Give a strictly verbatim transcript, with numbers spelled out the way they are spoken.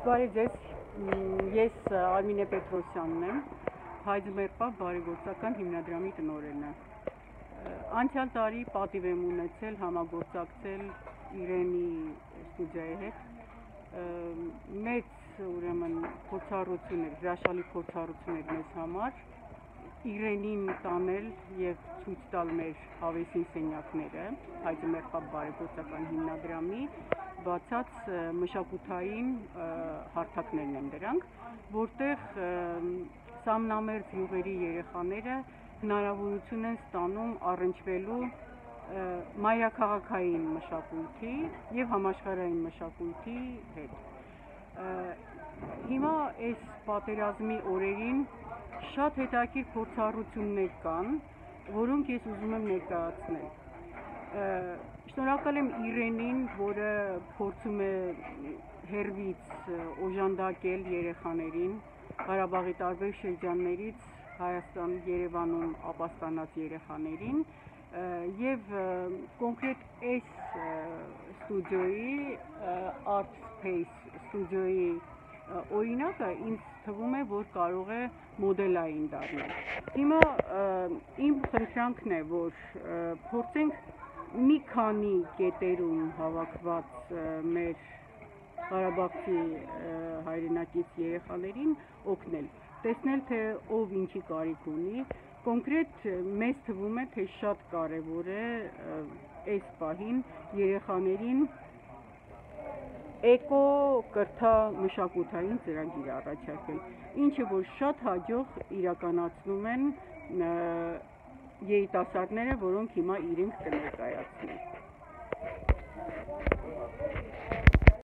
Բարի ձեզ, ես Արմինե Պետրոսյանն եմ, Հայձմերպա բարեգործական հիմնադրամի տնօրենը։ Անցյալ տարի պատիվ եմ ունեցել համագործակցել Իրենի ստուդիայի հետ։ Մեծ ուրեմն փորձառություն էր, հրաշալի փորձառություն էր մեզ համար Իրենին տանել եւ ցույց տալ մեր հավեսին սենյակները, Հայձմերպա բարեգործական հիմնադրամի բացած մշակութային հարթակներն են դրանք, որտեղ սամնամերձ յուղերի երեխաները հնարավորություն են ստանում առնչվելու մայրաքաղաքային մշակույթի եւ համաշխարհային մշակույթի հետ։ Հիմա այս պատերազմի օրերին շատ հետաքրքիր փորձառություններ կան, որոնք ես ուզում եմ ներկայացնել։ Շնորհակալ եմ Իրենին, որը փորձում է հեռվից օժանդակել երեխաներին, Ղարաբաղի տարբեր շրջաններից Հայաստան, Երևանում ապաստանած երեխաներին եւ կոնկրետ այս ստուդիոյի Art Space ստուդիոյի օրինակը ինձ թվում է, որ կարող է մոդելային դառնալ։ Հիմա իմ խնդրանքն է, որ փորձենք մի քանի կետերում հավաքված մեր Ղարաբաղցի հայրենակից երեխաներին օգնել, տեսնել, թե ով ինչի կարիք ունի, կոնկրետ մեզ թվում է, թե շատ կարևոր է այս պահին երեխաներին էկո կրթա մշակութային ծրագիր առաջարկել, ինչը որ շատ հաջող իրականացնում են երիտասարդները, որոնք հիմա իրենք կներկայացնեն։